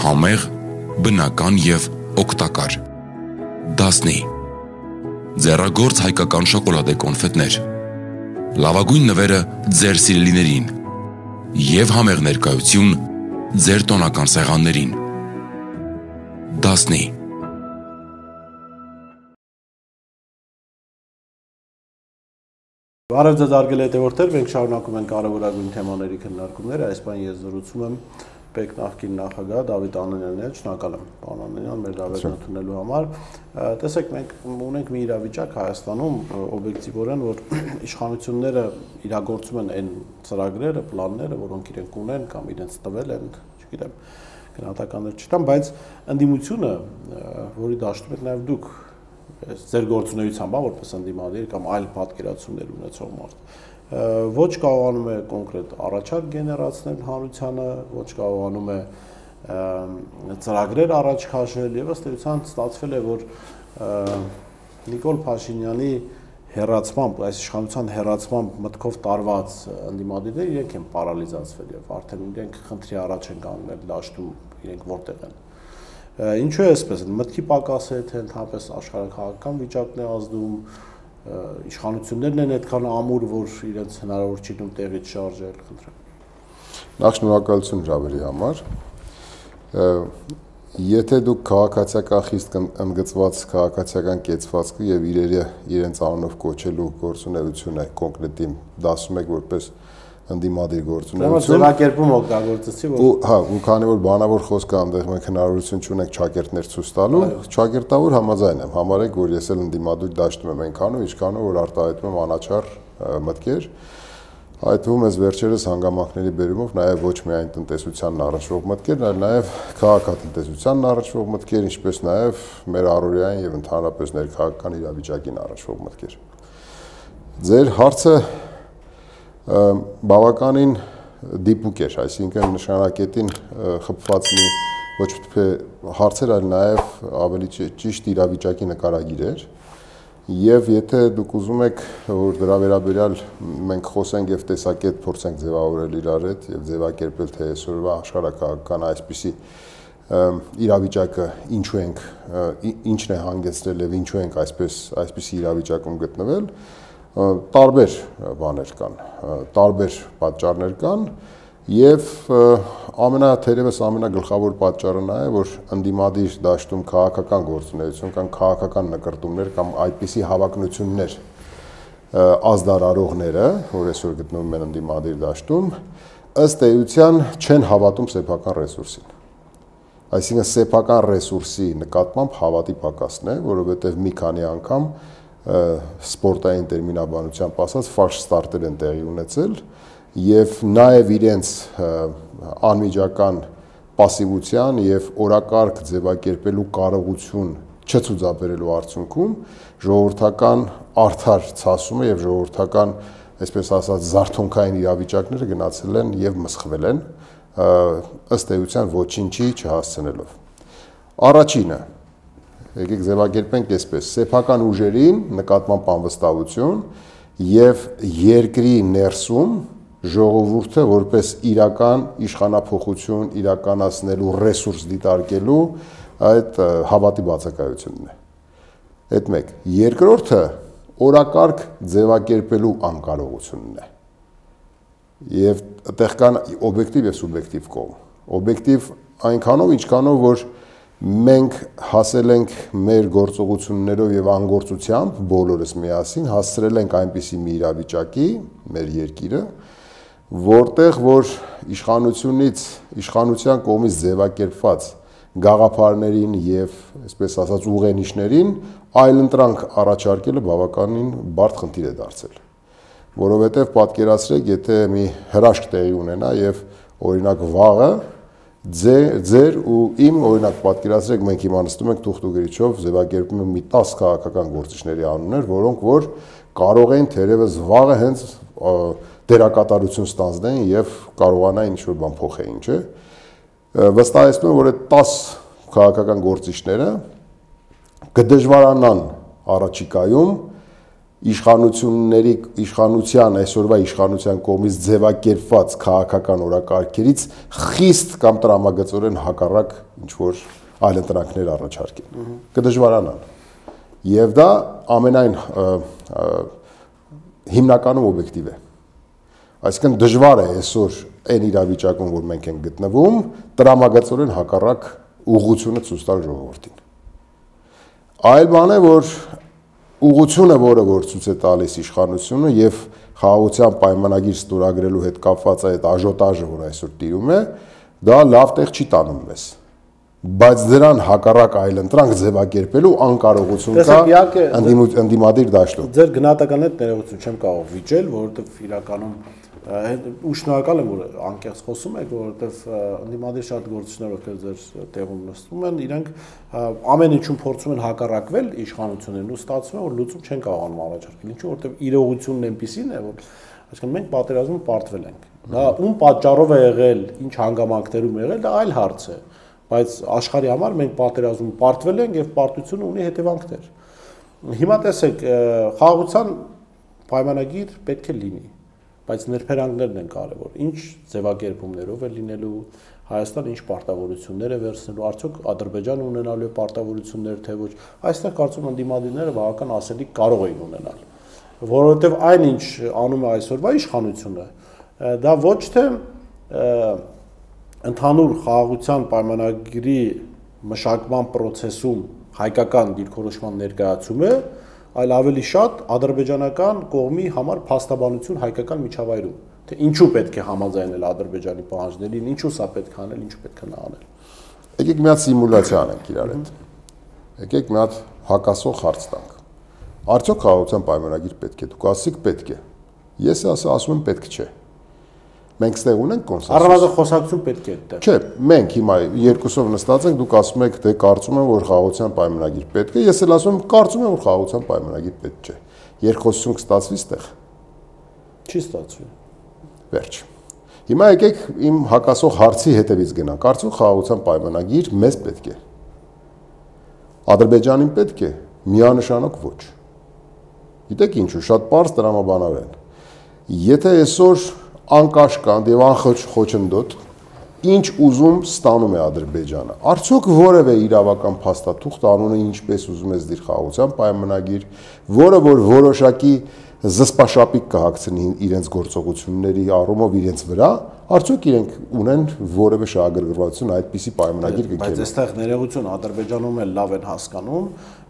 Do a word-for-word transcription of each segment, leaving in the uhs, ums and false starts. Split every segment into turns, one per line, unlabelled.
համեղ, բնական և օգտակար։ Դասնի ձեռագործ հայկական շոկոլադե կոնֆետներ, լավագույն նվերը ձեր սիրելիներին և համեղ ներկայություն ձեր տոնական սեղաններին։ Դասնի
Բարև ձեզ արգել հետևորդներ, մենք շարունակում ենք կարևորագույն թեմաների քննարկումները, այս բան ես զրուցում եմ ՊԵԿ նախկին նախագահ Դավիթ Անանյանն հետ, շնորհակալ եմ պարոն Անանյան մեր դավերն ընդունելու համար։ Տեսեք, մենք ունենք մի իրավիճակ Հայաստանում օբյեկտիվորեն, որ իշխանությունները իրագործում են այն ծրագրերը, պլանները, որոնք իրենք ունեն կամ իրենց տվել են, չգիտեմ, գնահատականներ չտամ, բայց ընդդիմությունը, որի դաշտում եք նաև դուք ձեր գործունեությամբ, որպես ընդդիմադիր կամ այլ պատկերացումներ ունեցող մարդ, ոչ կարողանում է կոնկրետ առաջարկ գեներացնել հանրությանը, ոչ կարողանում է ծրագրեր առաջ քաշել եւ ըստ էության ստացվել է, որ Նիկոլ Փաշինյանի հերացմամբ, այս իշխանության հերացմամբ մտքով տարված ընդդիմադիրները իրենք են պարալիզացվել եւ արդեն իրենք խնդրի առաջ են կանգնել դաշտում, իրենք որտեղ են։ Ինչու է այսպես, մտքի պակաս է, թե ընդհանրապես աշխարհաքաղաքական վիճակն է ազդում, իշխանություններն են այդքան ամուր, որ իրենց հնարավոր չի դնում տեղից շարժել, խնդրեմ։
Նախ շնորհակալություն Ժավերի համար։ Եթե դուք քաղաքացիական խիստ ընդգծված քաղաքացիական կեցվածքը եւ իրերը իրենց անունով կոչելու գործունեությունը կոնկրետին դասում եք որպես ընդդիմադիր գործունեություն։
Ձևակերպում օգտագործեցի, որ
հա, ու քանի որ բանավոր խոսքը այնտեղ մենք հնարավորություն չունենք ճակերտներ ցույց տալու, ճակերտավոր համաձայն եմ, համարեք, որ ես էլ ընդդիմադիր դաշտում եմ այնքանով, ինչքանով որ արտահայտում եմ անաչառ մտքեր, այդ թվում ես վերջերս հանգամանքների բերումով նաև ոչ միայն տնտեսությանն առնչվող մտքեր, այլ նաև քաղաքատնտեսությանն առնչվող մտքեր, ինչպես նաև մեր առօրյային եւ ընդհանրապես ներքաղաքական իրավիճակին առնչվող մտքեր։ Ձեր հարցը բավականին դիպուկ էր, այսինքն նշանակետին խփված մի ոչ թե հարցեր, այլ նաև ավելի ճիշտ իրավիճակի նկարագիր էր։ Եվ եթե դուք ուզում եք, որ դրա վերաբերյալ մենք խոսենք եւ տեսակետ փորձենք ձևավորել իրար հետ եւ ձևակերպել, թե այսօրվա աշխարհակաղակական այսպիսի իրավիճակը ինչու ենք, ինչն է հանգեցրել եւ ինչու ենք այսպես այսպիսի իրավիճակում գտնվել, տարբեր բաներ կան, տարբեր պատճառներ կան եւ ամենաթերևս ամենագլխավոր պատճառը նա է, որ ընդդիմադիր դաշտում քաղաքական գործունեություն կամ քաղաքական նկրտումներ կամ այդպիսի հավակնություններ ազդարարողները, որ այսօր գտնվում են ընդդիմադիր դաշտում, ըստ էության չեն հավատում սեփական ռեսուրսին։ Այսինքն սեփական ռեսուրսի նկատմամբ հավատի պակասն է, որովհետեւ մի քանի անգամ սպորտային տերմինաբանությամբ ասած ֆալշ ստարտեր են տեղի ունեցել եւ նաեւ իրենց անմիջական պասիվության եւ օրակարգ ձևակերպելու կարողություն չցուցաբերելու արդյունքում ժողովրդական արդար ցասումը եւ ժողովրդական, այսպես ասած, զարթոնքային իրավիճակները գնացել են եւ մսխվել են ըստ էության ոչինչի չհասցնելով։ Առաջինը եկեք ձևակերպենք այսպես, սեփական ուժերին նկատմամբ անվստահություն եւ երկրի ներսում ժողովուրդը որպես իրական իշխանափոխություն իրականացնելու ռեսուրս դիտարկելու այդ հավատի բացակայությունն է։ Այդ մեկ։ Երկրորդը օրակարգ ձևակերպելու անկարողությունն է։ Եվ այդտեղ կան օբյեկտիվ եւ սուբյեկտիվ կողմ։ Օբյեկտիվ այնքանով, ինչքանով որ մենք հասել ենք մեր գործողություններով եւ անգործությամբ բոլորս միասին հասցրել ենք այնպիսի մի իրավիճակի մեր երկիրը, որտեղ որ իշխանությունից իշխանության կողմից ձևակերպված գաղափարներին եւ այսպես ասած ուղենիշներին այլընտրանք առաջարկելը բավականին բարդ խնդիր է դարձել, որովհետեւ պատկերացրեք, եթե մի հրաշք տեղի ունենա եւ օրինակ վաղը Ձեր, ձեր ու իմ օրինակ պատկերացրեք մենք հիմա նստում ենք թուղթ ու գրիչով ձևակերպում ենք մի տասը քաղաքական գործիչների անուններ, որոնք որ կարող են թերևս վաղը հենց դերակատարություն ստանձնեն եւ կարողանային ինչ-որ բան փոխեին, չէ։ Վստահեցնում եմ, որ այդ տասը քաղաքական գործիչները կդժվարանան առաջիկայում իշխանությունների իշխանության այսօրվա իշխանության կողմից ձևակերպված քաղաքական օրակարգերից խիստ կամ տրամագծորեն հակառակ ինչ որ այլ ընտրանքներ առաջարկեն կդժվարանան եւ դա ամենայն հիմնականում օբյեկտիվ է այսինքն դժվար է այսօր այն իրավիճակում որ մենք ենք գտնվում տրամագծորեն հակառակ ուղղությունը ցույց տալ ժողովրդին այլ բան է որ ուղղությունը որը որ ցույց է տալիս իշխանությունը եւ խաղաղության պայմանագիր ստորագրելու հետ կապված այդ աժոտաժը որ այսօր տիրում է դա լավ տեղ չի տանում մեզ բայց դրան հակառակ այլ ընտրանք ձևակերպելու անկարողություն կա ընդդիմադիր դաշտում
ձեր գնահատականն հետ ներողություն չեմ կարող վիճել որովհետեւ իրականում ու շնորհակալ եմ որ անկեղծ խոսում եք որովհետեւ ընդդիմադիր շատ գործիչներ ովքեր ձեր տեղում նստում են իրենք ամեն ինչում փորձում են հակառակվել իշխանություններին ու ստացվում է որ լուծում չեն կարողանում առաջարկել ինչու որովհետեւ իրողությունն այնպեսին է որ այսինքն մենք պատերազմում պարտվել ենք դա ում պատճառով է եղել ինչ հանգամանքներում եղել դա այլ հարց է բայց աշխարհի համար մենք պատերազմում պարտվել ենք եւ պարտությունը ունի հետևանքներ հիմա տեսեք խաղաղության պայմանագիր պետք է լինի բայց ներբերանքներն են կարևոր ինչ ձևակերպումներով է լինելու Հայաստանը ինչ պարտավորություններ է վերցնելու արդյոք Ադրբեջանը ունենալու է պարտավորություններ թե ոչ այստեղ կարծում եմ ընդդիմադիրները բավական ասելիք կարող էին ունենալ որովհետեւ այնինչ անում է այսօրվա իշխանությունը դա ոչ թե ընդհանուր խաղաղության պայմանագրի մշակման process-ում հայկական դիրքորոշման ներկայացում է այլ ավելի շատ ադրբեջանական կողմի համար փաստաբանություն հայկական միջավայրում թե ինչու պետք է համաձայնել ադրբեջանի պահանջներին ինչու սա պետք է անել ինչու պետք է նա անել
եկեք մի հատ սիմուլյացիա անենք իրար հետ եկեք մի հատ հակասող հարց տանք արդյոք խաղաղության պայմանագիր պետք է դուք ասիք պետք է ես ասում եմ պետք չէ մենք ստեղ ունենք կոնսենսուս
առնվազն խոսակցություն պետք է այդտեղ
չէ մենք հիմա երկուսով նստած ենք դուք ասում եք թե կարծում եմ որ խաղաղության պայմանագիր պետք է ես էլ ասում եմ կարծում եմ որ խաղաղության պայմանագիր պետք չէ երկխոսություն կստացվի ստեղ
չի ստացվի
վերջ հիմա եկեք իմ հակասող հարցի հետևից գնանք կարծում խաղաղության պայմանագիր մեզ պետք է Ադրբեջանին պետք է միանշանակ ոչ գիտեք ինչու շատ պարզ տրամաբանար են եթե այսօր անկաշկանդ եւ անխոչնդոտ ինչ ուզում ստանում է Ադրբեջանը արդյոք որևէ իրավական փաստաթուղթ անունը ինչպես ուզում ես դիր խաղաղության պայմանագիր որը որ որոշակի զսպաշապիկ կհագցնի իրենց գործողությունների առումով իրենց վրա արդյոք իրենք ունեն որևէ շահագրգռվածություն այդպիսի պայմանագիր կնքելու
բայց այստեղ ներողություն Ադրբեջանում էլ լավ են հասկանում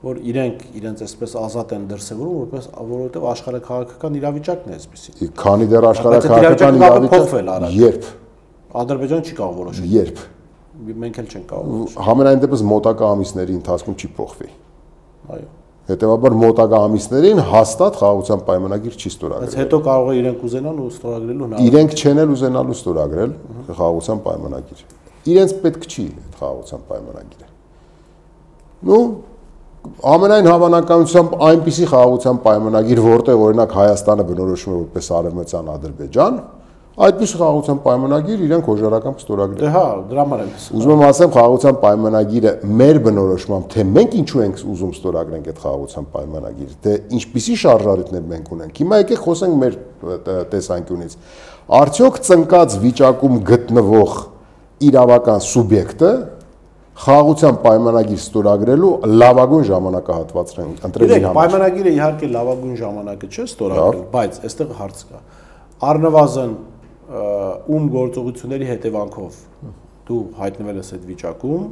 որ իրենք իրենց այսպես ազատ են դրսևորում որպես որովհետև աշխարհաքաղաքական իրավիճակն է այսպեսի
քանի դեռ աշխարհաքաղաքական իրավիճակը երբ
Ադրբեջանը չի կարող որոշել
երբ
մենք էլ չենք կարող
համենայն դեպս մոտակա ամիսների ընթացքում չի փոխվի
այո
հետևաբար մոտակա ամիսներին հաստատ խաղաղության պայմանագիր չի ստորագրել
բայց հետո կարող է իրենք ուզենան ու ստորագրելու հնարավոր
իրենք չեն էլ ուզենալու ստորագրել խաղաղության պայմանագիր իրենց պետք չի այդ խաղաղության պայմանագիրը նու ամենայն հավանականությամբ այնպիսի խաղաղության պայմանագիր որտեղ օրինակ Հայաստանը բնորոշում է որպես արևմտյան Ադրբեջան այդպես խաղաղության պայմանագիր իրենք հոժարական ստորագրել։
Դե հա, դրա համար եմ։
Ուզում եմ ասեմ խաղաղության պայմանագիրը մեր բնորոշմամբ թե մենք ինչու ենք ուզում ստորագրենք այդ խաղաղության պայմանագիրը, թե ինչպիսի շարժառիթներ մենք ունենք։ Հիմա եկեք խոսենք մեր տեսանկյունից։ Արդյոք ծնկած վիճակում գտնվող իրավական սուբյեկտը խաղաղության պայմանագիր ստորագրելու լավագույն ժամանակահատվածն են ընտրել իր համար։
Պայմանագիրը իհարկե լավագույն ժամանակը չէ ստորագրել, բայց այստեղ հարց կա։ Առնվազն ում գործողությունների հետևանքով դու հայտնվել ես այդ վիճակում,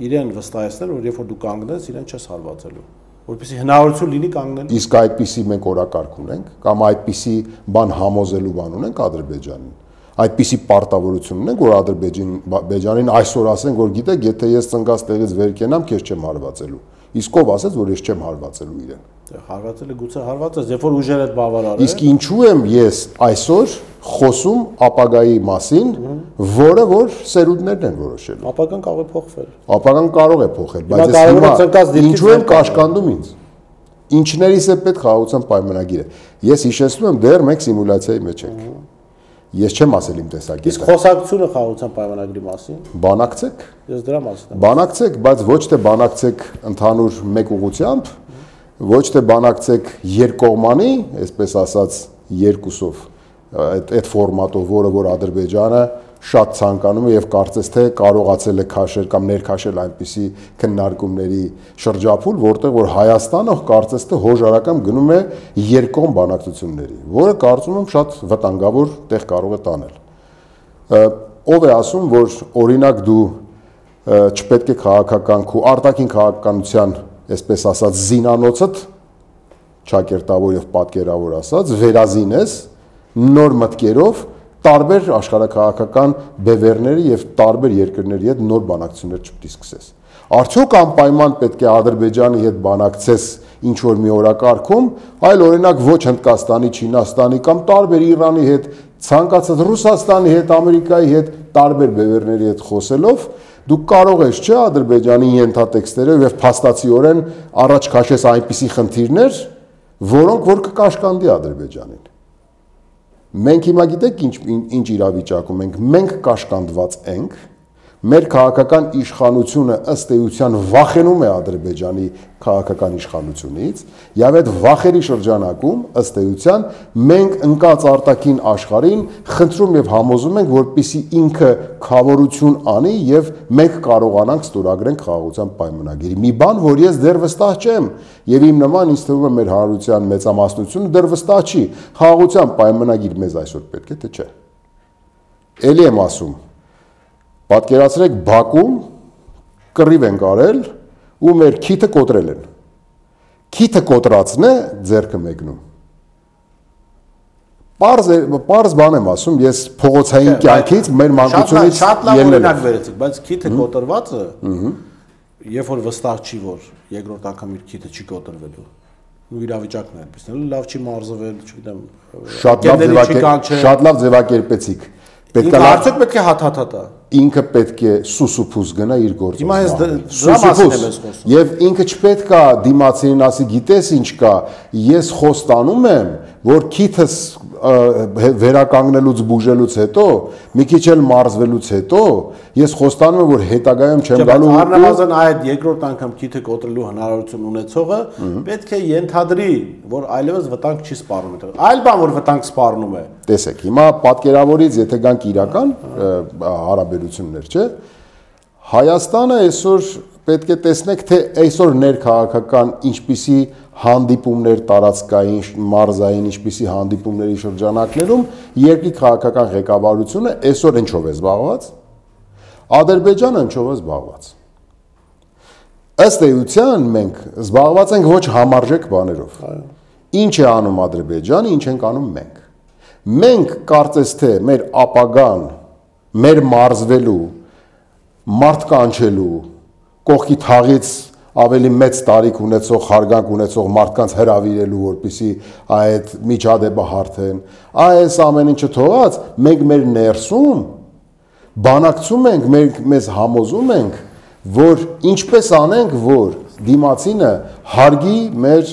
իրեն վստահեցնել, որ երբ որ դու կանգնես, իրեն չես հարվածելու, որպեսզի հնարավորություն լինի կանգնել։
Իսկ այդպիսի մենք օրակարգ ունենք, կամ այդպիսի բան համոզելու բան ունենք Ադրբեջանին։ Այդպիսի պարտավորություն ունենք, որ Ադրբեջանին այսօր ասենք, որ գիտեք, եթե ես ծնկած տեղից վեր կենամ, քեզ չեմ հարվածելու։ Իսկ ով ասեց, որ ես չեմ հարվածելու իրեն։
Հարվածելը գուցե հարվածես, երբ որ ուժերը բավարար է։
Իսկ ինչու եմ ես այսօր խոսում ապագայի մասին, որը որ սերունդներն են որոշելու։
Ապագան կարող է փոխվել։
Ապագան կարող է փոխել, բայց ես ինչու եմ կաշկանդում ինձ։ Ինչներից է պետք խաղաղության պայմանագիրը։ Ես հիշեցնում եմ, դեռ մենք սիմուլյացիայի մեջ ենք։ Ես չեմ ասել իմ տեսակետը։
Իսկ խոսակցությունը խաղաղության պայմանագրի մասին։
Բանակցեք։
Ես դրա մասին եմ։
Բանակցեք, բայց ոչ թե բանակցեք ընդհանուր մեկ ուղղությամբ, ոչ թե բանակցեք երկկողմանի, այսպես ասած, երկուսով, այդ այդ ֆորմատով, որը որ Ադրբեջանը շատ ցանկանում է եւ կարծես թե կարողացել է քաշել կամ ներքաշել այնպիսի քննարկումների շրջափուլ, որտեղ որ Հայաստանը կարծես թե հոժարակամ գնում է երկկողմ բանակցությունների, որը կարծում եմ շատ վտանգավոր տեղ կարող է տանել։ Ով է ասում, որ օրինակ դու չպետք է քաղաքական քու արտաքին քաղաքականության, այսպես ասած, զինանոցդ ճակերտավոր եւ պատկերավոր ասած, վերազինես նոր մտքերով տարբեր աշխարհակաղակական բևեռների եւ տարբեր երկրների հետ նոր բանակցություններ չպետք է սկսես։ Արդյոք անպայման պետք է Ադրբեջանի հետ բանակցես ինչ որ մի օրակարգում, այլ օրինակ ոչ Հնդկաստանի, Չինաստանի կամ տարբեր Իրանի հետ, ցանկացած Ռուսաստանի հետ, Ամերիկայի հետ, տարբեր բևեռների հետ խոսելով դու կարող ես չէ Ադրբեջանի ենթատեքստերով եւ փաստացիորեն առաջ քաշես այնպիսի խնդիրներ, որոնք որ կկաշկանդի Ադրբեջանին։ Մենք հիմա գիտեք ինչ ինչ իրավիճակում ենք, մենք կաշկանդված ենք, մեր քաղաքական իշխանությունը ըստ էության վախենում է Ադրբեջանի քաղաքական իշխանությունից, եւ այդ վախերի շրջանակում ըստ էության մենք ընկած արտաքին աշխարհին խնդրում եւ համոզում ենք, որպիսի ինքը խավորություն անի եւ մենք կարողանանք ստորագրենք խաղաղության պայմանագիրը։ Մի բան, որ ես դեռ վստահ չեմ, եւ իմ նման ինձ թվում է մեր հանրության մեծամասնությունը դեռ վստահ չի, խաղաղության պայմանագիր մեզ այսօր պետք է թե չէ։ Էլի եմ ասում, պատկերացրեք Բաքում կռիվ են արել ու մեր քիթը կոտրել են։ Քիթը կոտրածն է ձեռքը մեկնում։ Պարզ պարզ բան եմ ասում, ես փողոցային կյանքից մեր մանկությունից
շատ լավ օրինակ վերեցիք, բայց քիթը կոտրվածը, երբ որ վստահ չի, որ երկրորդ անգամ իր քիթը չի կոտրվելու, ու իրավիճակն է այդպես, լավ չի մարզվել, չգիտեմ,
շատ լավ ձևակերպեցիք։
Պետք է արդյոք պետք է հաթաթա։
Ինքը պետք է սուսուփուս գնա իր գործը։
Հիմա ես դրա մասին եմ խոսում։
Եվ ինքը չպետք է դիմացին ասի, գիտես ինչ կա, ես խոստանում եմ, որ քիթս վերականգնելուց բուժելուց հետո, մի քիչ էլ մարզվելուց հետո, ես խոստանում եմ, որ հետագայում չեմ գալու։
Առնվազն այդ երկրորդ անգամ քիթը կոտրելու հնարավորություն ունեցողը պետք է ենթադրի, որ այլևս վտանգ չի սպառնում։ Այլ բան, որ վտանգ սպառնում է։
Տեսեք, հիմա պատկերավորից, եթե գանք իրական հարաբերություններ, չէ՞, Հայաստանը այսօր պետք է տեսնեք, թե այսօր ներքաղաքական ինչպիսի հանդիպումներ տարածքային, մարզային, ինչպիսի հանդիպումների շրջանակներում երկրի քաղաքական ղեկավարությունը այսօր ինչով է զբաղված, Ադրբեջանը ինչով է զբաղված։ Ըստ էության մենք զբաղված ենք ոչ համարժեք բաներով։ Ինչ է անում Ադրբեջանը, ինչ ենք անում մենք։ Մենք կարծես թե մեր ապագան, մեր մարզվելու, մարդկանչելու, կողքի թաղից ավելի մեծ տարիք ունեցող, հարգանք ունեցող մարդկանց հրավիրելու, որպեսզի այդ միջադեպը հարթեն, այս ամեն ինչը թողած, մենք մեր ներսում բանակցում ենք, մենք մեզ համոզում ենք, որ ինչպես անենք, որ դիմացինը հարգի մեր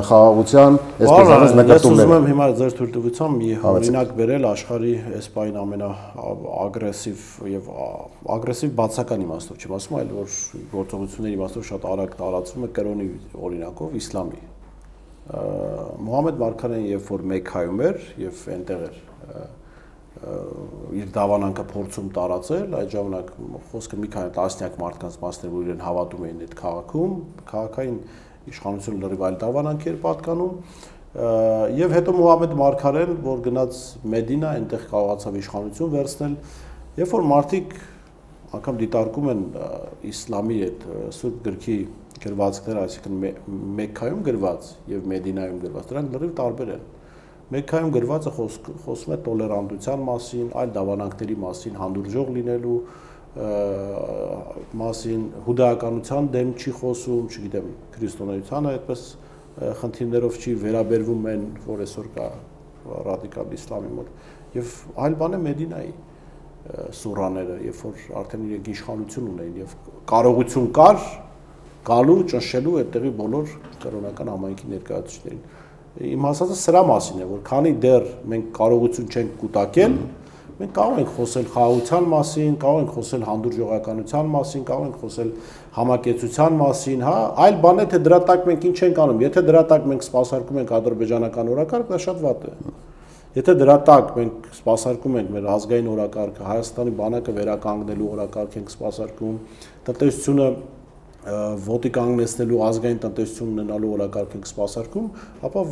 խաղաղության այսպես ասած նկատումները։
Ես ուզում եմ հիմա ձեր թույլտվությամբ մի օրինակ բերել աշխարհի այսպայն ամենաագրեսիվ եւ ագրեսիվ բացական իմաստով չեմ ասում, այլ որ գործողությունների իմաստով շատ արագ տարածվում է կրոնի օրինակով իսլամի։ Մուհամմեդ Մարգարեն երբ որ Մեքքայում էր եւ այնտեղ էր իր դավանանքը փորձում տարածել, այդ ժամանակ խոսքը մի քանի տասնյակ մարդկանց մասն որ իրեն հավատում էին այդ քաղաքում, քաղաքային իշխանությունը լրիվ այլ դավանանք էր պատկանում, եւ հետո Մուհամմեդ Մարգարեն, որ գնաց Մեդինա, այնտեղ կարողացավ իշխանություն վերցնել, երբ որ մարդիկ անգամ դիտարկում են իսլամի այդ սուրբ գրքի գրվածքները, այսինքն Մեքքայում գրված եւ Մեդինայում գրված, դրանք լրիվ տարբեր են։ Մեքքայում գրվածը խոսում է տոլերանտության մասին, այլ դավանանքների մասին, հանդուրժող լինելու մասին, հուդայականության դեմ չի խոսում, չգիտեմ, քրիստոնեությանը այդպես խնդիրներով չի վերաբերվում են, որ այսօր կա ռադիկալ իսլամի մոտ, եւ այլ բան է Մեդինայի սուրաները, երբ որ արդեն իրենք իշխանություն ունեն եւ կարողություն կար գալու ճնշելու այդտեղի բոլոր կրոնական համայնքի ներկայացուցիչներին։ Իմ հասածը սրա մասին է, որ քանի դեռ մենք կարողություն չենք կուտակել, Մենք կարող ենք խոսել խաղաղության մասին, կարող ենք խոսել հանդուրժողականության մասին, կարող ենք խոսել համակեցության մասին, հա, այլ բան է թե դրա տակ մենք ինչ ենք անում։ Եթե դրա տակ մենք սպասարկում ենք ադրբեջանական օրակարգ, դա շատ վատ է։ Եթե դրա տակ մենք սպասարկում ենք մեր ազգային օրակարգը, Հայաստանի բանակը վերականգնելու օրակարգ ենք սպասարկում, տնտեսությունը ոտի կանգնեցնելու ազգային տնտեսություն ունենալու օրակարգ ենք սպասարկում, ապա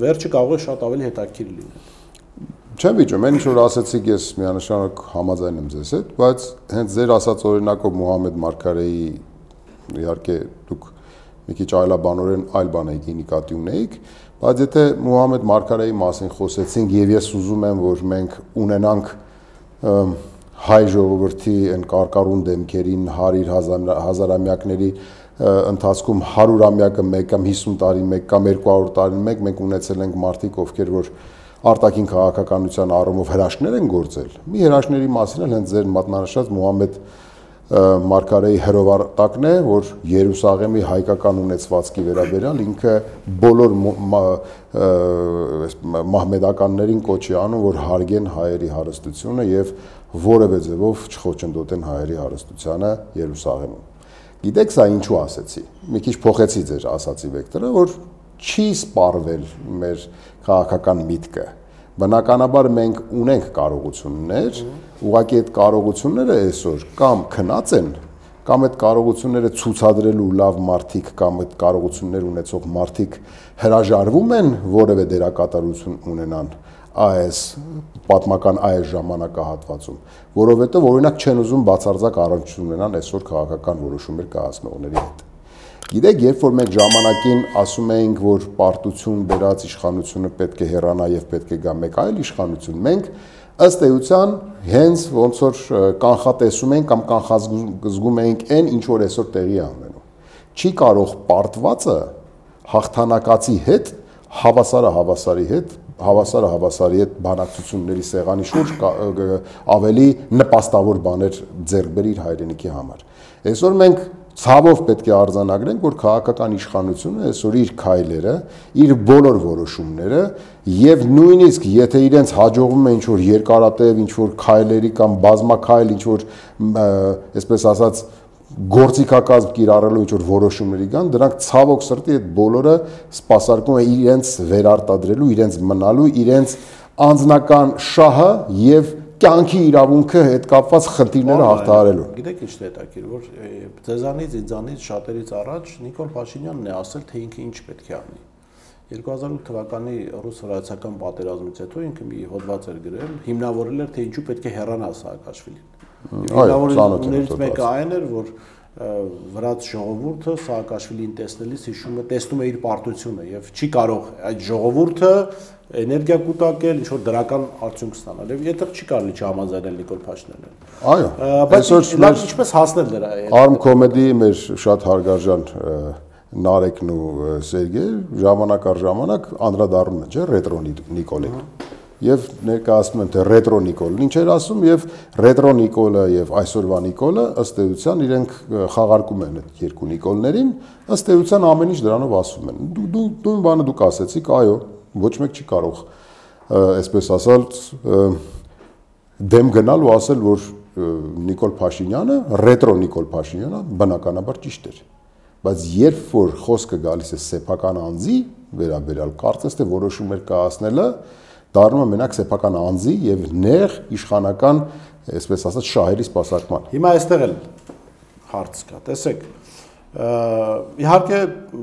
վերջը կարող է շատ ավելի հետաքրքիր լինել։
Չեմ վիճում, այն ինչ որ ասացիք ես միանշանակ համաձայն եմ ձեզ հետ, բայց հենց ձեր ասած օրինակով Մուհամեդ Մարգարեի իհարկե դուք մի քիչ այլաբանորեն այլ բան եք նկատի ունեիք, բայց եթե Մուհամեդ Մարգարեի մասին խոսեցինք եւ ես ուզում եմ, որ մենք ունենանք հայ ժողովրդի այն կարկառուն դեմքերին հարյուր հազարամյակների ընթացքում հարյուրամյակը մեկ կամ հիսուն տարի մեկ կամ երկու հարյուր տարի մեկ մենք ունեցել ենք մարդիկ, ովքեր որ արտաքին քաղաքականության առումով հրաշքներ են գործել։ Մի հրաշքների մասին էլ հենց ձեր մատնանշած Մուհամեդ Մարգարեի հրովարտակն է, որ Երուսաղեմի հայկական ունեցվածքի վերաբերյալ ինքը բոլոր մահմեդականներին կոչի անում, որ հարգեն հայերի հարստությունը եւ որևէ ձևով չխոչընդոտեն հայերի հարստությանը Երուսաղեմում։ Գիտեք սա ինչու ասեցի։ Մի քիչ փոխեցի ձեր ասացի վեկտորը, որ չի սպառվել մեր քաղաքական միտքը։ Բնականաբար մենք ունենք կարողություններ, ուղղակի այդ կարողությունները այսօր կամ քնած են, կամ այդ կարողությունները ցուցադրելու լավ մարդիկ կամ այդ կարողություններ ունեցող մարդիկ հրաժարվում են որևէ դերակատարություն ունենան այս պատմական այս ժամանակահատվածում, որովհետև օրինակ չեն ուզում բացարձակ առնչություն ունենան այսօր քաղաքական որոշումներ կայացնողների հետ։ Գիտեք, երբ որ մենք ժամանակին ասում էինք, որ պարտություն բերած իշխանությունը պետք է հեռանա եւ պետք է գա մեկ այլ իշխանություն, մենք ըստ էության հենց ոնց որ կանխատեսում ենք կամ կանխազգում ենք այն, ինչ որ այսօր տեղի է ունենում։ Չի կարող պարտվածը հաղթանակացի հետ, հավասարը հավասարի հետ, հավասարը հավասարի հետ բանակցությունների սեղանի շուրջ ավելի նպաստավոր բաներ ձեռք բերի իր հայրենիքի համար։ Այսօր մենք ցավով պետք է արձանագրենք, որ քաղաքական իշխանությունը այսօր իր քայլերը, իր բոլոր որոշումները եւ նույնիսկ եթե իրենց հաջողվում է ինչ-որ երկարատև, ինչ-որ քայլերի կամ բազմաքայլ, ինչ-որ այսպես ասած գործիքակազմ կիրառելու ինչ-որ որոշումների կան, դրանք ցավոք սրտի այդ բոլորը սպասարկում է իրենց վերարտադրելու, իրենց մնալու, իրենց անձնական շահը եւ կյանքի իրավունքը հետ կապված խնդիրները հաղթահարելու։
Գիտեք ինչ է հետաքրքիր, որ ձեզանից, ինձանից շատերից առաջ Նիկոլ Փաշինյանն է ասել, թե ինքը ինչ պետք է անի։ երկու հազար ութ թվականի ռուս-վրացական պատերազմից հետո ինքը մի հոդված էր գրել, հիմնավորել էր, թե ինչու պետք է հեռանա Սաակաշվիլին։ Հիմնավորումներից մեկը այն էր, որ վրաց ժողովուրդը Սաակաշվիլին տեսնելիս հիշում է, տեսնում է իր պարտությունը եւ չի կարող այդ ժողովուրդը էներգիա կուտակել, ինչ որ դրական արդյունք ստանալ։ Եվ եթե չի կարելի չհամաձայնել Նիկոլ Փաշինյանին։
Այո,
բայց լավ ինչպես հասնել դրա հետ։
Arm Comedy մեր շատ հարգարժան Նարեկն ու Սերգեյ ժամանակ առ ժամանակ անդրադառնում են, չէ՞, ռետրո Նիկոլին։ Եվ ներկայացնում են թե ռետրո Նիկոլն ինչ էր ասում եւ ռետրո Նիկոլը եւ այսօրվա Նիկոլը ըստ էության իրենք խաղարկում են այդ երկու Նիկոլներին, ըստ էության ամեն ինչ դրանով ասում են։ Դու դու դու բանը դուք ասեցիք, այո, ոչ մեկ չի կարող այսպես ասալ դեմ գնալ ու ասել, որ Նիկոլ Փաշինյանը, ռետրո Նիկոլ Փաշինյանը բնականաբար ճիշտ էր։ Բայց երբ որ խոսքը գալիս է սեփական անձի վերաբերյալ, կարծես թե որոշումներ կայացնելը դառնում է մենակ սեփական անձի եւ նեղ իշխանական, այսպես ասած, շահերի սպասարկման։
Հիմա այստեղ էլ հարց կա, տեսեք, իհարկե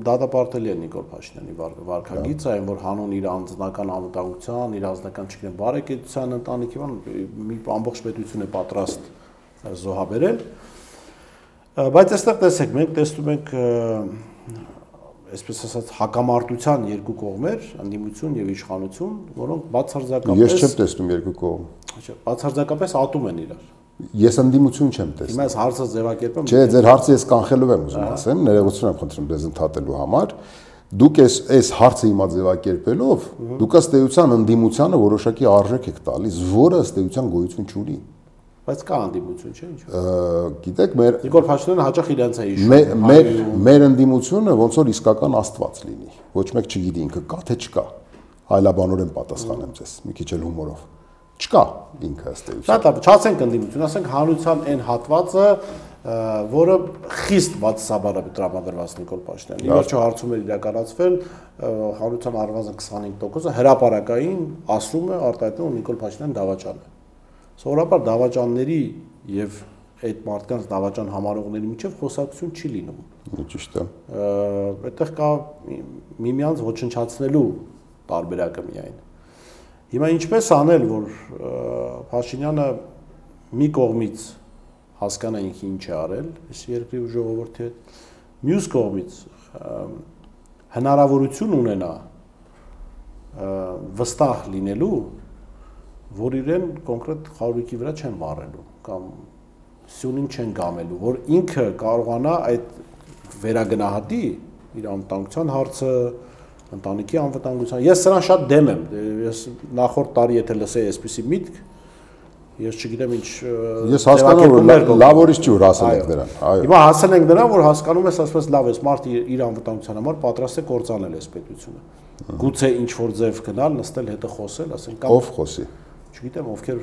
դատապարտելի է Նիկոլ Փաշինյանի վարքագիծը, այն որ հանուն իր անձնական անվտանգության, իր անձնական չգիտեմ բարեկեցության ընտանիքի բան մի ամբողջ պետություն է պատրաստ զոհաբերել, բայց այստեղ տեսեք, մենք տեսնում ենք այսպես ասած հակամարտության երկու կողմեր, ընդդիմություն եւ իշխանություն, որոնք բացարձակապես
Ես չեմ տեսնում երկու կողմ։
Չէ, բացարձակապես ատում են իրար։
Ես ընդդիմություն չեմ տեսնում։
Հիմա այս հարցը ձևակերպեմ։
Չէ, ձեր հարցը ես կանխելով եմ ուզում ասեմ, ներողություն եմ խնդրում դες ընդհատելու համար։ Դուք այս այս հարցը հիմա ձևակերպելով, դուք ըստ էության ընդդիմությանը որոշակի արժեք եք տալիս, որը ըստ էության գոյություն չունի։
Բայց կա ընդդիմություն, չէ՞ ինչ։
Գիտեք, մեր
Նիկոլ Փաշինյանը հաճախ իրենց է հիշում։
Մեր մեր ընդդիմությունը ոնց որ իսկական աստված լինի։ Ոչ մեկ չգիտի ինքը կա թե չկա։ Այլաբանորեն պատասխանեմ ձեզ, մի քիչ էլ հումորով։ Չկա ինքը ըստ էության։
Շատ լավ, չասենք ընդդիմություն, ասենք հանրության այն հատվածը, որը խիստ բացասաբար է տրամադրված Նիկոլ Փաշինյանին։ Ի վերջո հարցում էր իրականացվել, հանրության առնվազն քսանհինգ տոկոսը հրապարակային ասում է արտահայտում, որ Նիկոլ Փաշինյանը դավաճան է։ Սովորաբար դավաճանների եւ այդ մարդկանց դավաճան համարողների միջև խոսակցություն չի լինում։
Ճիշտ է։
Այդտեղ կա միմյանց ոչնչացնելու տարբերակը միայն։ Հիմա ինչպես անել, որ Փաշինյանը մի կողմից հասկանա ինքը ինչ է արել, այս երկրի ու ժողովրդի հետ, մյուս կողմից հնարավորություն ունենա վստահ լինելու, որ իրեն կոնկրետ խարույկի վրա չեն վառելու կամ սյունին չեն գամելու, որ ինքը կարողանա այդ վերագնահատի իր անվտանգության հարցը, ընտանիքի անվտանգության։ Ես սրան շատ դեմ եմ։ Ես նախորդ տարի եթե լսեի այսպիսի միտք, ես չգիտեմ ինչ
Ես հասկանում եմ, լավ օրից չի որ հասել ենք դրան։ Այո։
Հիմա հասել ենք դրան, որ հասկանում ես, ասես լավ, այս մարդը իր անվտանգության համար պատրաստ է կործանել այս պետությունը։ Գուցե ինչ որ ձև գնալ, նստել հետը խոսել, ասենք կամ
ով խոսի։
Չգիտեմ, ովքեր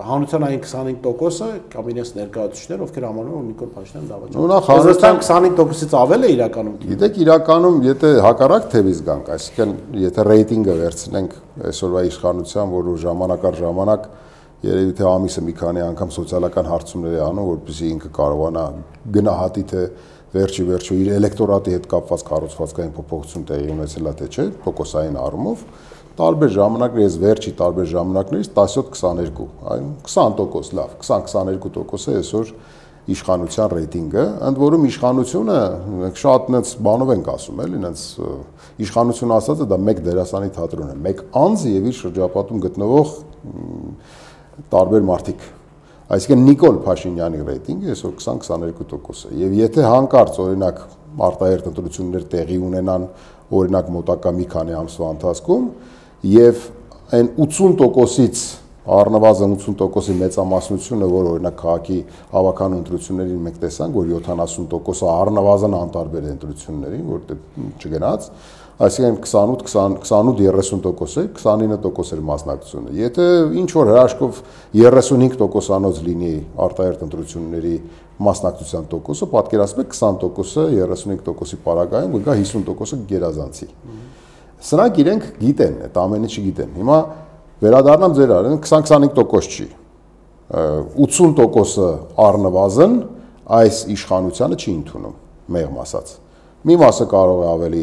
հանրության այն քսանհինգ տոկոսը կամ իրենց ներկայացուցիչներ, ովքեր համարում են Նիկոլ Փաշինյանը դավաճան։
Նախ հանրության
քսանհինգ տոկոսից ավել է իրականում։
Գիտեք, իրականում եթե հակառակ թևից գանք, այսինքն եթե ռեյտինգը վերցնենք այսօրվա իշխանության, որ ժամանակ առ ժամանակ երևի թե ամիսը մի քանի անգամ սոցիալական հարցումներ է անում, որպեսզի ինքը կարողանա գնահատի թե վերջի վերջո իր էլեկտորատի հետ կապված կառուցվածքային փոփոխություն տեղի ունեցել է թե չէ, տոկոսային առումով, տարբեր ժամանակներ, ես վերջի տարբեր ժամանակներից տասյոթ քսաներկու, այն քսան տոկոս, լավ, քսան քսաներկու տոկոս է այսօր իշխանության ռեյտինգը, ընդ որում իշխանությունը մենք շատ նենց բանով ենք ասում, էլի, նենց իշխանությունը ասածը դա մեկ դերասանի թատրոն է, մեկ անձ եւ իր շրջապատում գտնվող տարբեր մարդիկ։ Այսինքն Նիկոլ Փաշինյանի ռեյտինգը այսօր քսան քսաներկու տոկոս է եւ եթե հանկարծ օրինակ արտահերտ ընտրություններ տեղի ունենան օրինակ մոտակա մի քանի ամսվա ընթացքում եւ այն ութսուն տոկոսից առնվազն ութսուն տոկոսի մեծամասնությունը, որ օրինակ քաղաքի հավաքական ընտրություններին մենք տեսանք, որ յոթանասուն տոկոսը առնվազն անտարբեր է ընտրություններին, որտեղ չգնաց, այսինքն քսանութ քսանութ երեսուն տոկոս է, քսանինը տոկոս էր մասնակցությունը։ Եթե ինչ որ հրաշքով երեսունհինգ տոկոսանոց լինի արտահերտ ընտրությունների մասնակցության տոկոսը, պատկերացնեք քսան տոկոսը երեսունհինգ տոկոսի պարագայում կգա հիսուն տոկոսը գերազանցի։ Սրանք իրենք գիտեն, այդ ամենը չգիտեն։ Հիմա վերադառնամ ձեր արեն քսան քսանհինգ տոկոս չի։ ութսուն տոկոսը առնվազն այս իշխանությանը չի ընդունում, մեղմ ասած։ Մի մասը կարող է ավելի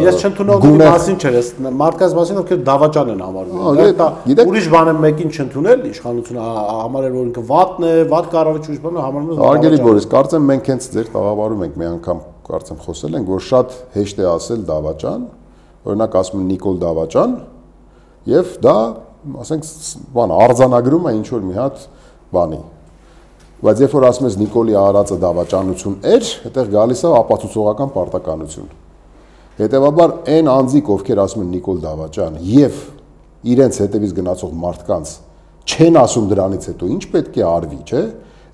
Ես չընդունում եմ մասին չէ, ես մարդկանց մասին ովքեր դավաճան են համարում։ Ուրիշ բան է մեկին չընդունել, իշխանությունը համարել որ ինքը վատն է, վատ կառավարիչ ուրիշ բան է համարում է։
Արգելի Բորիս, կարծեմ մենք հենց ձեր տաղավարում ենք մի անգամ կարծեմ խոսել ենք, որ շատ հեշտ է ասել դավաճան, օրինակ ասում են Նիկոլ դավաճան, եւ դա, ասենք, բան արձանագրում է ինչ որ մի հատ բանի։ Բայց երբ որ ասում ես Նիկոլի արածը դավաճանություն էր, այդտեղ գալիս է ապացուցողական պարտականություն։ Հետևաբար այն անձիկ, ովքեր ասում են Նիկոլ դավաճան եւ իրենց հետևից գնացող մարդկանց չեն ասում դրանից հետո ինչ պետք է արվի, չէ՞։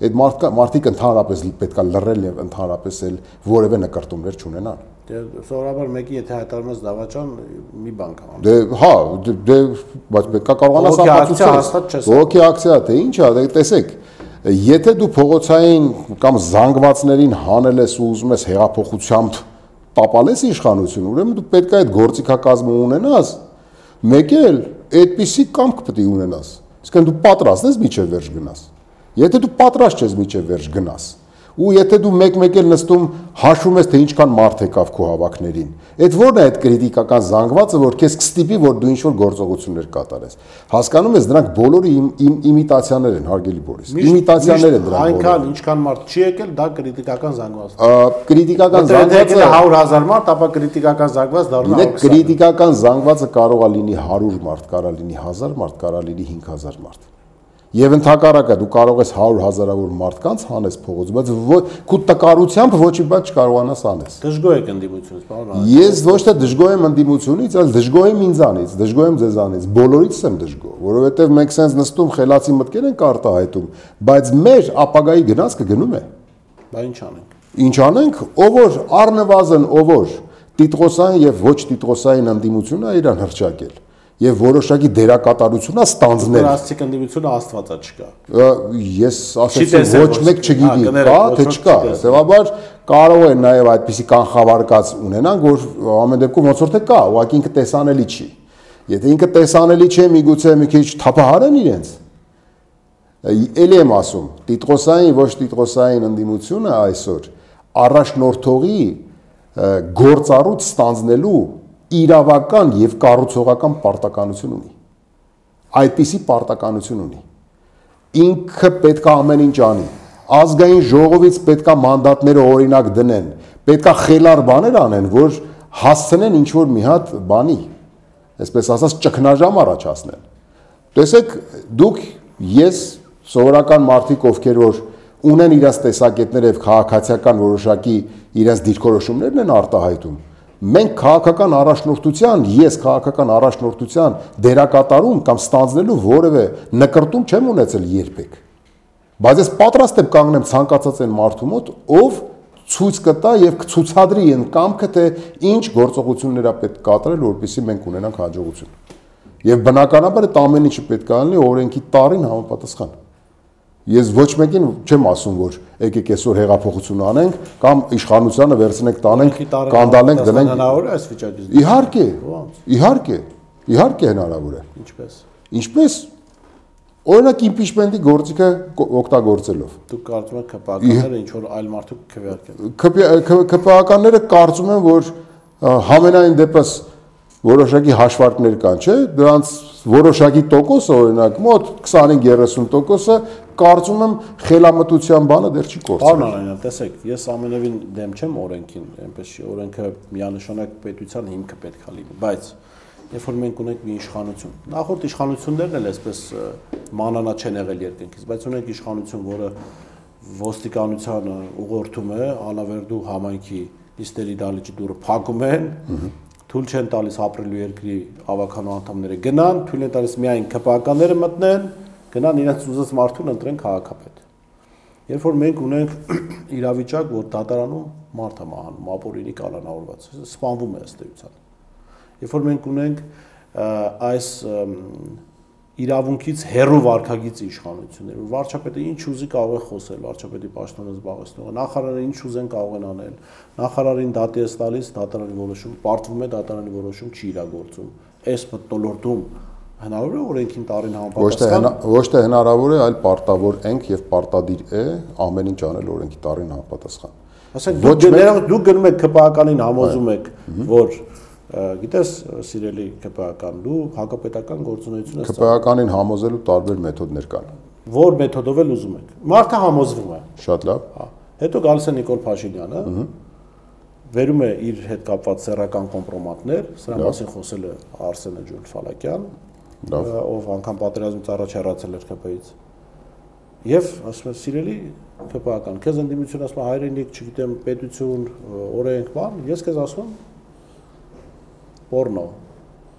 Այդ մարդիկ ընդհանրապես պետք է լռել եւ ընդհանրապես էլ որևէ նկարտումներ չունենան։
Դե սովորաբար մեկի եթե հայտարարում ես դավաճան, մի բան կա։
Դե հա, դե բայց պետք է կարողանաս ապացուցել։ Ոգի ակցիա թե ինչ է, դե տեսեք։ Եթե դու փողոցային կամ զանգվածներին հանել ես ու ուզում ես հեղափոխությամբ տապալես իշխանություն, ուրեմն դու պետք է այդ գործիքակազմը ունենաս, մեկ էլ այդպիսի կամք պետք է ունենաս։ Իսկն դու պատրաստ ես միջև վերջ գնաս։ Եթե դու պատրաստ ես միջև վերջ գնաս, ու եթե դու մեկ-մեկ էլ նստում հաշվում ես թե ինչքան մարդ եկավ քո հավաքներին, այդ ո՞րն է այդ քրիտիկական զանգվածը, որ քեզ կստիպի, որ դու ինչ-որ գործողություններ կատարես։ Հասկանում ես, դրանք բոլորը իմիտացիաներ են, հարգելի Բորիս։ Իմիտացիաներ են դրանք։
Այնքան ինչքան մարդ չի եկել, դա քրիտիկական զանգված է։
Քրիտիկական զանգվածը
հարյուր հազար մարդ, ապա քրիտիկական զանգված դառնա։
Դե քրիտիկական զանգվածը կարող է լինի հարյուր մարդ, կարող է լինի հազար մարդ, կարող է լինի հինգ հազար մարդ։ Եվ ընդհակառակը դու կարող ես հարյուր հազարավոր մարդկանց հանես փողոց, բայց քո տկարությամբ ոչի բան չկարողանաս անես։
Դժգոհ եք ընդդիմությունից, պարոն։
Ես ոչ թե դժգոհ եմ ընդդիմությունից, այլ դժգոհ եմ ինձանից, դժգոհ եմ ձեզանից, բոլորից եմ դժգոհ, որովհետև մենք սենց նստում խելացի մտքեր ենք արտահայտում, բայց մեր ապագայի գնացքը գնում է։
Բա ինչ անենք։
Ինչ անենք, ով որ առնվազն ով որ տիտղոսային եւ ոչ տիտղոսային ընդդիմությունը իրան հրճակել։ եւ որոշակի դերակատարությունա ստանձնել։
Դրաստիկ ընդդիմությունը աստվածա չկա։
Ես ասեցի ոչ մեկ չգիտի, կա թե չկա։ Սևաբար կարող է նաեւ այդպիսի կանխավարկած ունենան, որ ամեն դեպքում ոնց որ թե կա, ուղղակի ինքը տեսանելի չի։ Եթե ինքը տեսանելի չէ, միգուցե մի քիչ թափահարեն իրենց։ Էլի եմ ասում, տիտղոսային ոչ տիտղոսային ընդդիմությունը այսօր առաջնորդողի գործառույթ ստանձնելու իրավական եւ կառուցողական պարտականություն ունի։ Այդպիսի պարտականություն ունի։ Ինքը պետք է ամեն ինչ անի։ Ազգային ժողովից պետք է մանդատները օրինակ դնեն, պետք է խելար բաներ անեն, որ հասցնեն ինչ որ մի հատ բանի, այսպես ասած ճգնաժամ առաջացնեն։ Տեսեք, դուք ես սովորական մարդիկ, ովքեր որ ունեն իրենց տեսակետներ եւ քաղաքացիական որոշակի իրենց դիրքորոշումներն են արտահայտում։ Մենք քաղաքական առաջնորդության, ես քաղաքական առաջնորդության դերակատարում կամ ստանձնելու որևէ նկրտում չեմ ունեցել երբեք։ Բայց ես պատրաստ եմ կանգնեմ ցանկացած այն մարդու մոտ, ով ցույց կտա եւ կցուցադրի այն կամքը, թե ինչ գործողություններ է պետք կատարել, որպեսզի մենք ունենանք հաջողություն։ Եվ բնականաբար այդ ամեն ինչը պետք է լինի օրենքի տարին համապատասխան։ Ես ոչ մեկին չեմ ասում, որ եկեք այսօր հեղափոխություն անենք կամ իշխանությանը վերցնենք, տանենք, կանդալենք, դնենք։
Հնարավոր է այս վիճակից։
Իհարկե։ Իհարկե։ Իհարկե հնարավոր է։
Ինչպես։
Ինչպես։ Օրինակ իմպիչմենտի գործիքը օգտագործելով։
Դուք կարծում եք ԿՊԱ-ականները ինչ որ այլ մարդու քվեարկեն։
ԿՊԱ-ականները կարծում են, որ համենայն դեպս որոշակի հաշվարկներ կան, չէ՞, դրանց որոշակի տոկոսը, օրինակ, մոտ քսանհինգ երեսուն տոկոսը կարծում եմ խելամտության բանը դեռ չի կորցրել։
Պարոն Արանյան, տեսեք, ես ամենևին դեմ չեմ օրենքին, այնպես չի, օրենքը միանշանակ պետության հիմքը պետք է լինի, բայց երբ որ մենք ունենք մի իշխանություն, նախորդ իշխանություններն էլ այսպես մանանա չեն եղել երկնքից, բայց ունենք իշխանություն, որը ոստիկանությանը ուղղորդում է, անավերդու համայնքի նիստերի դալիճի դուռը փակում են, թույլ չեն տալիս ապրելու երկրի ավականու անդամները գնան, թույլ են տալիս միայն ԿՊԱ-ականները մտնեն, գնան իրենց ուզած մարդուն ընտրեն քաղաքապետ։ Երբ որ մենք ունենք իրավիճակ, որ դատարանում մարդ է մահանում, ապօրինի կալանավորված, սպանվում է ըստ էության։ Երբ որ մենք ունենք այս իրավունքից հեռու վարքագիծ իշխանություններ, որ վարչապետը ինչ ուզի կարող է խոսել, վարչապետի պաշտոնը զբաղեցնողը, նախարարը ինչ ուզեն կարող են անել, նախարարին դատի է տալիս, դատարանի որոշում պարտվում է, դատարանի որոշում չի իրագործում։ Այս մթնոլորտում հնարավոր է օրենքին տարին համապատասխան։
Ոչ թե հնարավոր է, այլ պարտավոր ենք եւ պարտադիր է ամեն ինչ անել օրենքի տարին համապատասխան։
Ասենք դուք գնում եք ԿՊԱ-ականին համոզում եք, որ գիտես, սիրելի ԿՊԱ-ական, դու հակապետական գործունեություն ես
ԿՊԱ-ականին համոզելու տարբեր մեթոդներ կան։
Որ մեթոդով էլ ուզում եք։ Մարդը համոզվում է։
Շատ լավ։
Հա։ Հետո գալիս է Նիկոլ Փաշինյանը, վերում է իր հետ կապված սեռական կոմպրոմատներ, սրա մասին խոսել է Արսենը Ջուլֆալակյան, ով անգամ պատերազմից առաջ հեռացել էր ԿՊ-ից։ Եվ ասում է, սիրելի ԿՊԱ-ական, քեզ ընդդիմություն ասում է հայրենիք, չգիտեմ, պետություն, օրենք, բան, ես քեզ ասում եմ պորնո,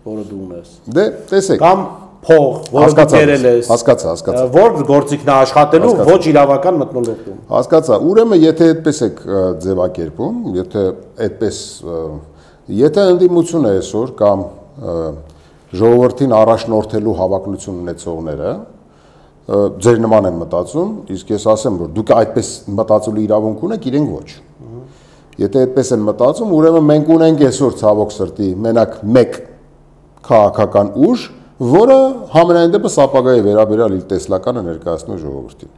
որը դու ունես։
Դե, տեսեք։
Կամ փող, որը դու բերել ես։
Հասկացա, հասկացա։
Որ գործիքն է աշխատելու ոչ իրավական մթնոլորտում։
Հասկացա։ Ուրեմն, եթե այդպես եք ձևակերպում, եթե այդպես, եթե ընդդիմությունը այսօր կամ ժողովրդին առաջնորդելու հավակնություն ունեցողները ձեր նման են մտածում, իսկ ես ասեմ, որ դուք այդպես մտածելու իրավունք ունեք, իրենք ոչ։ Եթե այդպես են մտածում, ուրեմն մենք ունենք այսօր ցավոք սրտի մենակ մեկ քաղաքական ուժ, որը համենայն դեպս ապագայի վերաբերյալ իր տեսլականը ներկայացնում է ժողովրդին։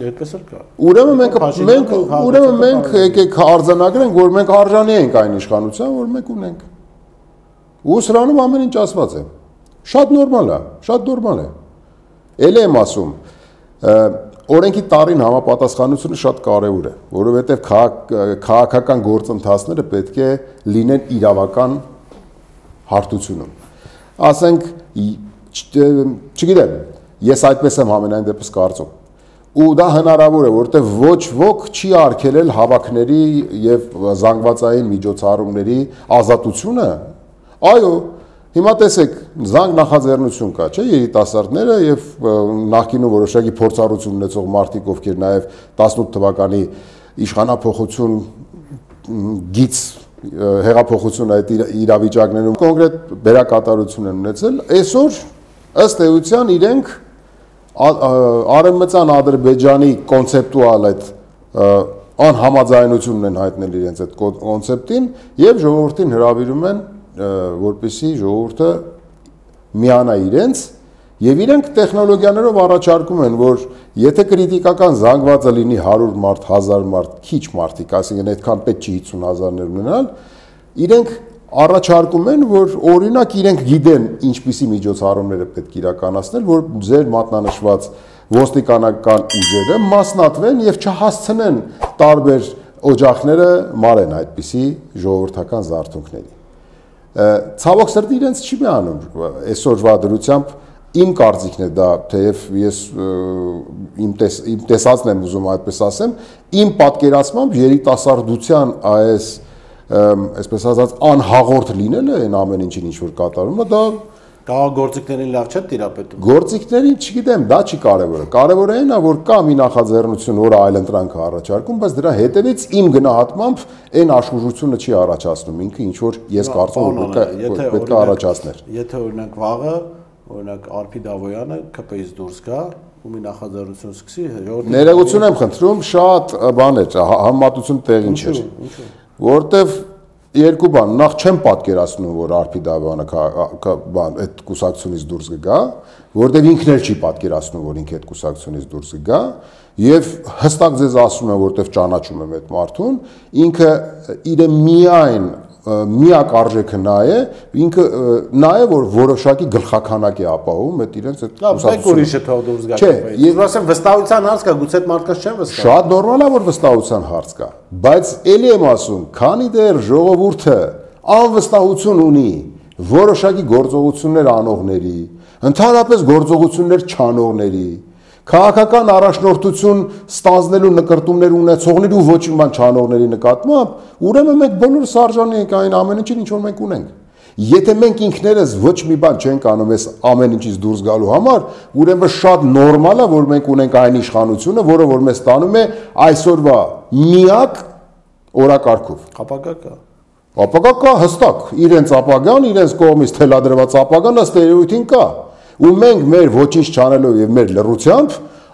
Այդպես էլ կա։
Ուրեմն մենք մենք ուրեմն մենք եկեք արձանագրենք, որ մենք արժանի ենք այն իշխանության, որ մենք ունենք։ Ու սրանում ամեն ինչ ասված է։ Շատ նորմալ է, շատ նորմալ է։ Էլ եմ ասում, օրենքի տարին համապատասխանությունը շատ կարևոր է, որովհետև քաղաքական գործընթացները պետք է լինեն իրավական հարթությունում։ Ասենք, չգիտեմ, ես այդպես եմ ամենայն դեպս կարծում։ Ու դա հնարավոր է, որովհետև ոչ ոք չի արգելել հավաքների եւ զանգվածային միջոցառումների ազատությունը։ Այո, հիմա տեսեք, զանգ նախաձեռնություն կա, չէ՞, երիտասարդները եւ նախկինում որոշակի փորձառություն ունեցող մարդիկ, ովքեր նաեւ տասնութ թվականի իշխանափոխություն գից հեղափոխությունը այդ իրավիճակներում կոնկրետ բերակատարություն են ունեցել, այսօր ըստ էության իրենք Արևմտյան Ադրբեջանի կոնցեպտուալ այդ անհամաձայնությունն են հայտնել իրենց այդ կոնցեպտին եւ ժողովրդին հրավիրում են, որպեսզի ժողովուրդը միանա իրենց եւ իրենք տեխնոլոգիաներով առաջարկում են, որ եթե քրիտիկական զանգվածը լինի հարյուր մարդ, հազար մարդ, քիչ մարդիկ, այսինքն այդքան պետք չի հիսուն հազարներ ունենալ, իրենք առաջարկում են, որ օրինակ իրենք գիտեն ինչպիսի միջոցառումներ է պետք իրականացնել, որ ձեր մատնանշված ոստիկանական ուժերը մասնատվեն եւ չհասցնեն տարբեր օջախները մարեն այդպիսի ժողովրդական զարթոնքների։ Ցավոք սրտի իրենց չի միանում այսօրվա դրությամբ իմ կարծիքն է դա, թեև ես իմ տեսածն եմ ուզում այդպես ասեմ, իմ պատկերացմամբ երիտասարդության այս այսպես ասած անհաղորդ լինելը այն ամեն ինչին ինչ որ կատարում է, դա
Կաղագործիքներին լավ չէ տիրապետում։
Գործիքներին չգիտեմ, դա չի կարևորը։ Կարևորը այն է, որ կա մի նախաձեռնություն, որը այլընտրանք է առաջարկում, բայց դրա հետևից իմ գնահատմամբ այն աշխուժությունը չի առաջացնում, ինքը ինչ որ ես կարծում եմ պետք է առաջացներ։
Եթե օրինակ վաղը, օրինակ Արփի Դավոյանը K P I-ից դուրս գա, ու մի նախաձեռնություն սկսի,
ներողություն եմ խնդրում, շատ բան է, համեմատություն տեղին չէր։ Որտեվ երկու բան, նախ չեմ պատկերացնում, որ Արփի Դավոյանը բան այդ կուսակցությունից դուրս կգա, որտեվ ինքն էլ չի պատկերացնում, որ ինքը այդ կուսակցությունից դուրս կգա, եւ հստակ ձեզ ասում եմ, որտեվ ճանաչում եմ այդ մարդուն, ինքը իր միայն միակ արժեքը նա է, ինքը նա է, որ որոշակի գլխաքանակ է ապահովում այդ իրենց այդ
կուսակցությունը։ Ուրիշը թող դուրս գա։ Չէ, ես ասեմ վստահության հարց կա, գուցե այդ մարդկանց չեն վստահ։
Շատ նորմալ է, որ վստահության հարց կա, բայց ելի եմ ասում, քանի դեռ ժողովուրդը անվստահություն ունի որոշակի գործողություններ անողների, ընդհանրապես գործողություններ չանողների, քաղաքական առաջնորդություն ստանձնելու նկարտումներ ունեցողների ու ոչ մի բան չանողների նկատմամբ, ուրեմն մենք բոլորս արժանի ենք այն ամեն ինչին, ինչ որ մենք ունենք։ Եթե մենք ինքներս ոչ մի բան չենք անում այս ամեն ինչից դուրս գալու համար, ուրեմն շատ նորմալ է, որ մենք ունենք այն իշխանությունը, որը որ մեզ տանում է այսօրվա միակ օրակարգով։
Ապագա կա։
Ապագա կա հստակ, իրենց ապագան, իրենց կողմից թելադրված ապագան ըստ էության կա։ Ու մենք մեր ոչինչ չանելով եւ մեր լռությամբ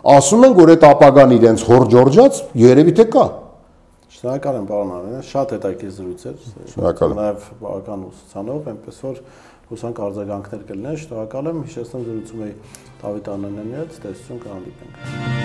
ասում ենք, որ այդ ապագան իրենց հորջորջած երևի թե կա։
Շնորհակալ եմ, պարոն Արենյան, շատ հետաքրքիր զրույց էր։
Շնորհակալ եմ։
Նաեւ բավական ուսուցանով, այնպես որ հուսանք արձագանքներ կլինեն։ Շնորհակալ եմ, հիշեցնում զրուցում էի Դավիթ Անանյանի հետ, տեսություն կհանդիպենք։